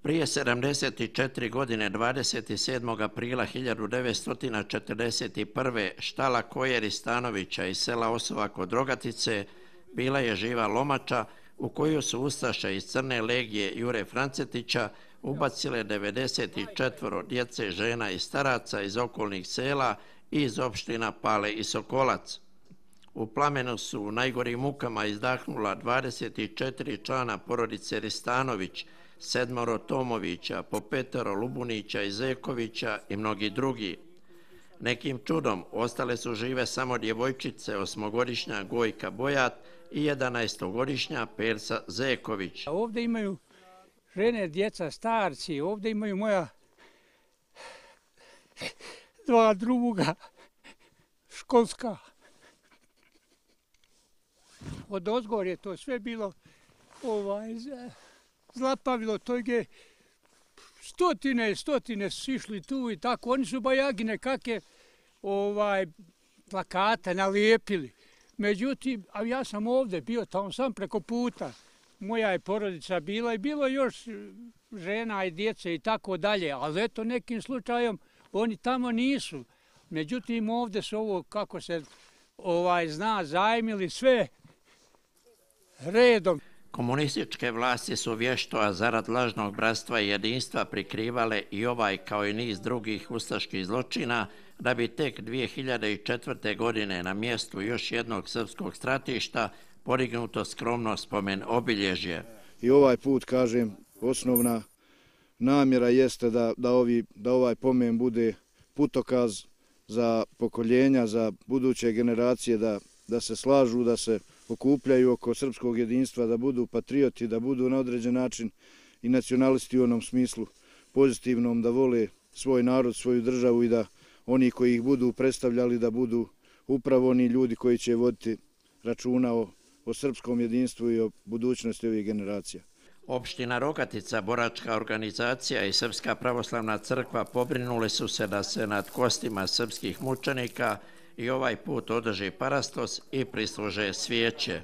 Prije 74 godine, 27. aprila 1941. štala Kojeri Stanovića iz sela Osova kod Rogatice bila je živa lomača u koju su ustaše iz Crne legije Jure Francetića ubacile 94 djece, žena i staraca iz okolnih sela i iz opština Pale i Sokolac. U plamenu su u najgorim mukama izdahnula 24 člana porodice Ristanović, 7 Tomovića, po 5 Lubunića i Zekovića i mnogi drugi. Nekim čudom ostale su žive samo djevojčice, 8-godišnja Gojka Bojat i 11-godišnja Persa Zeković. Ovdje imaju žene, djeca, starci, ovdje imaju moja 2 druga školska. Od ozgor je to sve bilo zlapavilo, to je stotine su išli tu i tako. Oni su bajagi nekakve plakate nalijepili. Međutim, a ja sam ovdje bio, tamo sam preko puta. Moja je porodica bila i bilo još žena i djece i tako dalje. Ali eto, nekim slučajem oni tamo nisu. Međutim, ovdje su ovo, kako se zna, zajmili sve redom. Komunističke vlasti su vješto, a zarad lažnog bratstva i jedinstva prikrivale i ovaj kao i niz drugih ustaških zločina, da bi tek 2004. godine na mjestu još jednog srpskog stratišta podignuto skromno spomen obilježje. I ovaj put, kažem, osnovna namjera jeste da ovaj pomen bude putokaz za pokoljenja, za buduće generacije, da se slažu, da se okupljaju oko srpskog jedinstva, da budu patrioti, da budu na određen način i nacionalisti u onom smislu pozitivnom, da vole svoj narod, svoju državu i da oni koji ih budu predstavljali da budu upravo oni ljudi koji će voditi računa o srpskom jedinstvu i o budućnosti ovih generacija. Opština Rogatica, boračka organizacija i Srpska pravoslavna crkva pobrinuli su se da se nad kostima srpskih mučenika i ovaj put održi parastos i prisluže svijeće.